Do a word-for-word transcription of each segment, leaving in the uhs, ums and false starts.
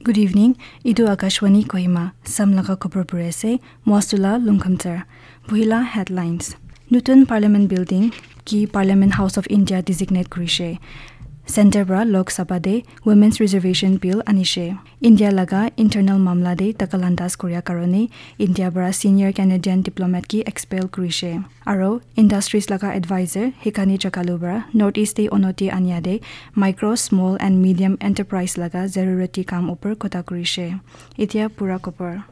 Good evening. Etu Akashvani Kohima. Sam laga khobor puri ase. Moasula Lungkhamter. Buhila headlines. Nutun Parliament Building ki Parliament House of India designate kurishe. Center para Lok Sabha de Women's Reservation Bill anishe. India laga internal mamla de dakalandas kuria karone India para senior Canadian diplomat ki expel kurishe. Aro industries laga advisor Hikani Chakalu para North East de onoti ania de micro, small and medium enterprise laga zarurati kam upor kotha kurishe. Etia pura khobor.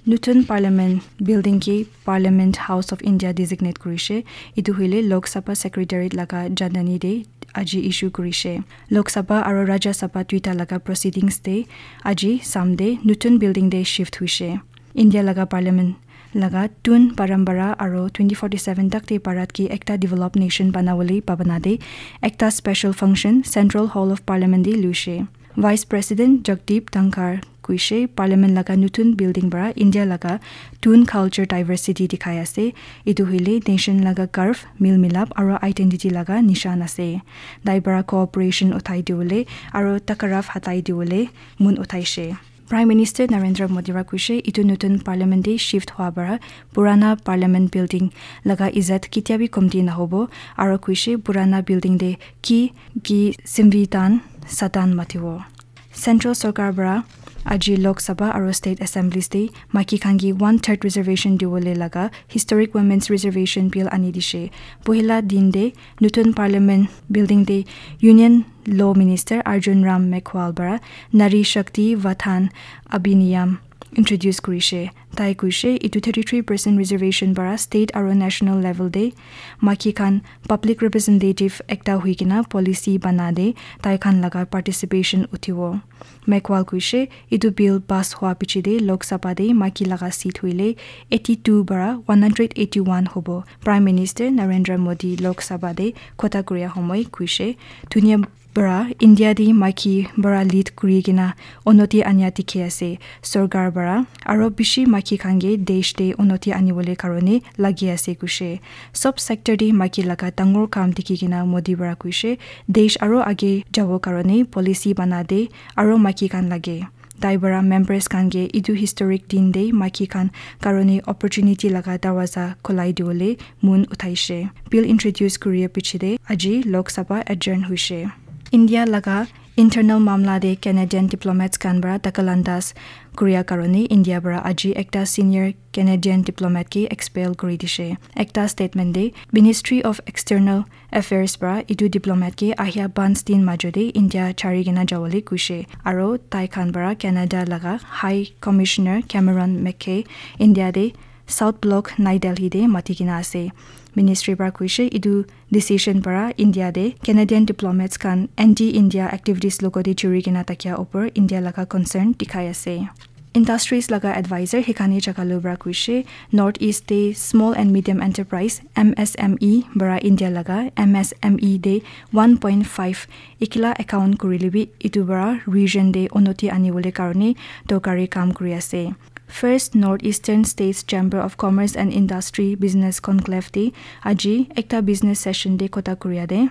Nutun Parliament Building ki Parliament House of India designate kurishe. Etu hoile Lok Sabha Secretariat laga jandani de aji issue kurishe. Lok Sabha aro Rajya Sabha duita laga proceedings de aji Sunday nutun building de shift huishe. India laga Parliament laga tun parampara aro twenty forty-seven tak de Bharat ki ekta developed nation banawole bhabana de ekta special function Central Hall of Parliament de luishe. Vice President Jagdeep Dhankhar kuishe Parliament laga nutun building para India laga tun culture diversity dikhai ase. Etu hoile nation laga garv, mil milap aro identity laga nishan ase. Tai para cooperation uthai diwole aro takarav hatai diwole mun uthaishe. Prime Minister Narendra Modi para kuishe etu nutun Parliament de shift hua para purana Parliament building laga izat ketia bi komti nahobo aro kuishe purana building de ki ki Samvidhan Sadan matibo. Central Sorkar para aji Lok Sabha aro State Assemblies de maki khan ki one third reservation diwole laga Historic Women's Reservation Bill ani dishe. Pohila din de nutun Parliament building de Union Law Minister Arjun Ram Meghwal para Nari Shakti Vadhan Abhiniyam introduce kurishe. Tai kuishe etu thirty-three percent reservation para state aro national level de maki khan public representative ekta hui kena policy bana de tai khan laga participation uthibo. Meghwal kuishe etu bill pass hua piche de Lok Sabha de maki laga seat hoile eighty-two para one hundred eighty-one hobo. Prime Minister Narendra Modi Lok Sabha de kotha kuria homoi kuishe dunia para India de maki para lead kuri kena onoti ania dikhi ase. Sorkar para aro bishi maki khan ke desh de onoti anibole karone lagi ase kuishe. Sob sector de maki laga dangor kam dikhi kena Modi para kuishe desh aro age jabo karone policy bana de aro maki khan lage. Tai para members khan ke etu historic din de maki khan karone opportunity laga darwaza khulai diwole mun uthaishe. Bill introduce kuria piche de aji Lok Sabha adjourn huishe. India laga internal mamla de Canadian diplomats khan para dakalandas kuria karone India para aji ekta senior Canadian diplomat ke expel kuri dishe. Ekta statement de Ministry of External Affairs para etu diplomat ke ahia panch din majo de India chari kena jawole kuishe. Aro tai khan para Canada laga High Commissioner Cameron McKay India de South Block New Delhi de mati kena ase. Ministry para kuishe etu decision para India de Canadian diplomats khan anti-India activities logote juri kena thakia upor India laga concern dikhai ase. Industries laga advisor Hikani Chakalu para kuishe North East de small and medium enterprise M S M E para India laga M S M E de one point five ekila account kurile bi etu para region de unoti anibole karone dorkari kam kuri ase. First North Eastern States Chamber of Commerce and Industry Business Conclave de aji ekta business session de kotha kuria de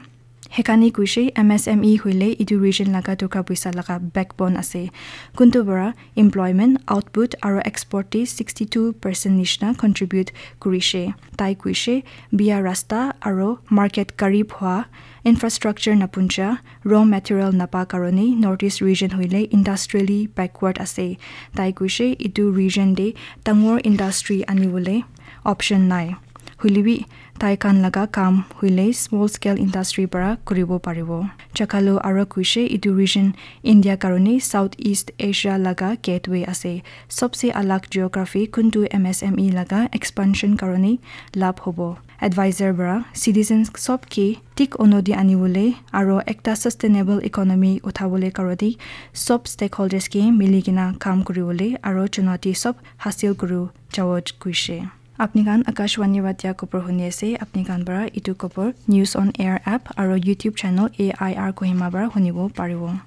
Hekani kuishe M S M E hoile etu region laga toka poisa laga backbone ase. Kuntu para employment, output aro export te sixty two percent nishina contribute kurishe. Tai kuishe bia rasta aro market karib hua, infrastructure napuncha, raw material napa karone North East region hoile industrially backward ase. Tai kuishe etu region te dangor industry anibole option nai. Hoilebi tai khan laga kam hoile small scale industry para kuribo paribo. Chakalo aro kuishe etu region India karone South East Asia laga gateway ase. Sobse alag geography kuntu M S M E laga expansion karone labh hobo. Advisor para citizens sob ke thik unoti anibole aro ekta sustainable economy uthabole karone sob stakeholders ke mili kena kam kuribole aro chunoti sob hasil kuru jabo kuishe. Apni khan Akashvani para dia khobor huni ase. Apni khan para etu khobor News on Air app aro YouTube channel A I R Kohima para hunibo paribo.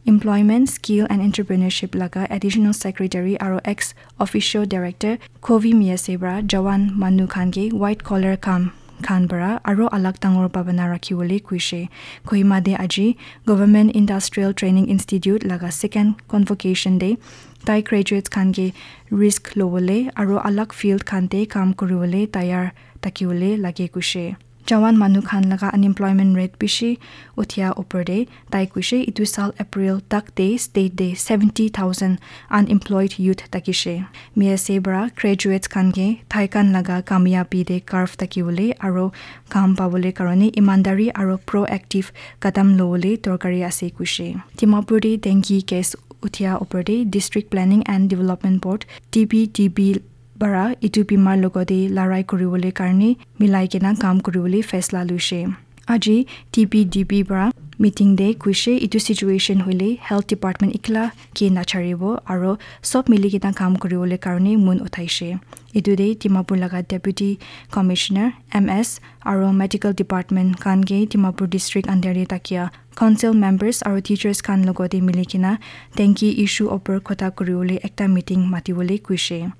Employment, Skill and Entrepreneurship laga Additional Secretary aro ex officio Director Kovi Miyase para jawan manu khan ke white collar kam khan para aro alak dangor bhabana rakhiwole kuishe. Kohima te aji Government Industrial Training Institute laga second convocation te tai graduates khan ke risk lobole aro alak field khan te kam kuriwole tayar thakiwole lage kuishe. Jawan manu khan laga unemployment rate bishi uthia upor te tai kuishe itu sal April tak te state te seventy thousand unemployed youth thakishe. Miyase para graduates khan ke tai khan laga kamiyabi te curve thakiwole aro kam pabole karone imandari aro proactive kadam lobole dorkari ase kuishe. Dimapur te dengue case uthia upor te District Planning and Development Board, D P D B, para itu bimar logote larai kuriwole karne milai kena kam kuriwole faisla luishe. Aji D P D B para meeting te kuishe itu situation hoile health department ikla ke nacharibo aro sob mili kena kam kuriwole karne mon uthaishe. Itu te Dimapur laga Deputy Commissioner, M S, aro medical department khan ke Dimapur district under te thakia council members aro teachers khan logote mili kena dengue issue upor kotha kuriwole ekta meeting matiwole kuishe.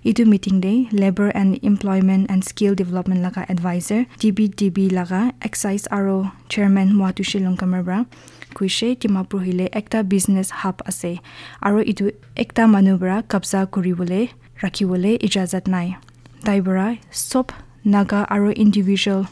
Itu meeting te Labour and Employment and Skill Development laga advisor, D P D B laga excise aro chairman Mwatushi Longkamer para kuishe Dimapur hoile ekta business hub ase aro itu ekta manu para kabza kuriwole rakhiwole ijazat nai. Tai para sob Naga aro individual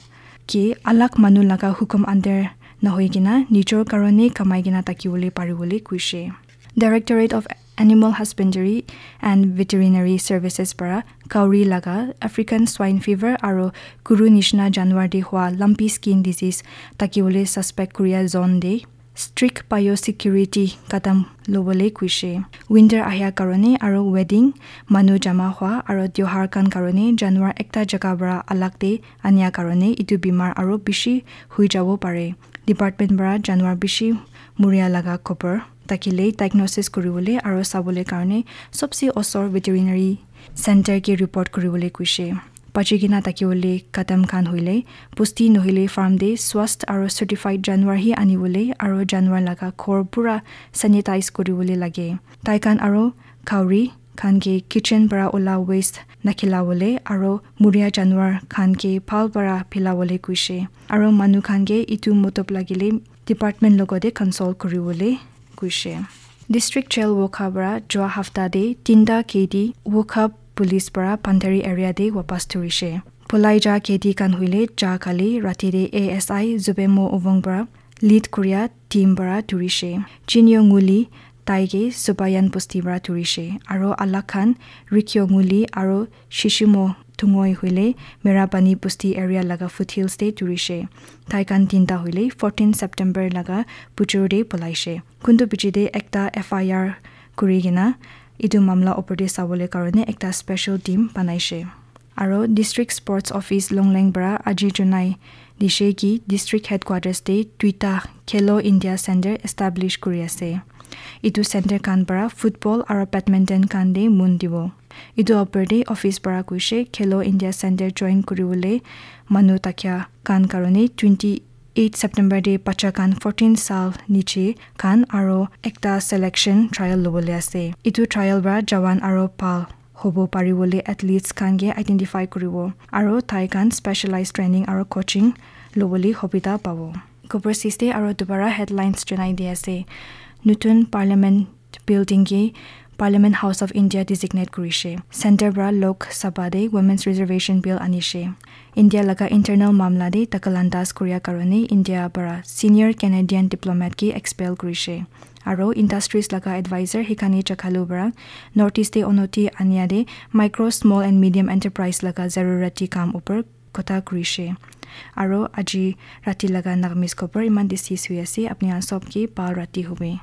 ke alak manu laga hukum under nahoi kena nijor karone kamai kena thakiwole pariwole kuishe. Directorate of Animal Husbandry and Veterinary Services para kauri laga African Swine Fever aro guru nishina janwar te hua lumpy skin disease thakiwole suspect kuria zone te strict biosecurity kadam lobole kuishe. Winter ahia karone aro wedding, manu jama hua aro tiohar khan karone janwar ekta jaga para alak te ania karone itu bimar aro bishi hui jabo pare. Department para janwar bishi muria laga khobor thakile diagnosis kuriwole aro sabole karone sobse osor veterinary center ke report kuriwole kuishe. Bachi kena thakiwole kadam khan hoile pusti nohile farm te swast aro certified janwar hi aniwole aro janwar laga ghor pura sanitize kuriwole lage. Tai khan aro khauri khan ke kitchen para ola waste nakhilawole aro muria janwar khan ke bhal para philawole kuishe. Aro manu khan ke itu motob lagile department logote consult kuriwole kuishe. District Jail Wokha para jua hafta te tinta kedi Wokha police para Bhandari area te wapas thurishe. Polai ja kedi khan hoile ja kali rati te A S I Zubemo Ovong para lead kuria team para thurishe. Chinyo Nguli tai ke Subayan bosti para thurishe. Aro alak khan Rikyo Nguli aro Shishimo Thungoi hoile Merapani bosti area laga foothills te thurishe. Tai khan tinta hoile fourteen September laga bujor te polaishe. Kuntu piche te ekta F I R kuri kena itu mamla opor te sabole karone ekta special team banaishe. Aro District Sports Office Longleng para aji junai dishe ki District Headquarters te duita Khelo India Center establish kuri ase. Itu center khan para football aro badminton khan te mon dibo. Itu opor te office para kuishe Khelo India Center join kuriwole manu thakia khan karone twenty eight September te bacha khan fourteen saal niche khan aro ekta selection trial lobole ase. Itu trial para jawan aro bhal hobo pariwole athletes khan ke identify kuribo aro tai khan specialized training aro coaching lobole hobita pabo. Khobor siste aro dubara headlines janai di ase. Nutun Parliament building ke Parliament House of India designate kurishe. Center para Lok Sabha te Women's Reservation Bill anishe. India laga internal mamla te dakhalandas kuria karone India para senior Canadian diplomat ke expel kurishe. Aro industries laga advisor Hikani Chakhalu para North East te onoti ania te micro, small and medium enterprise laga zarurati kam upor kotha kurishe. Aro aji rati laga Nagamese khobor iman te sis hui ase. Apni khan sob ke bhal rati hobe.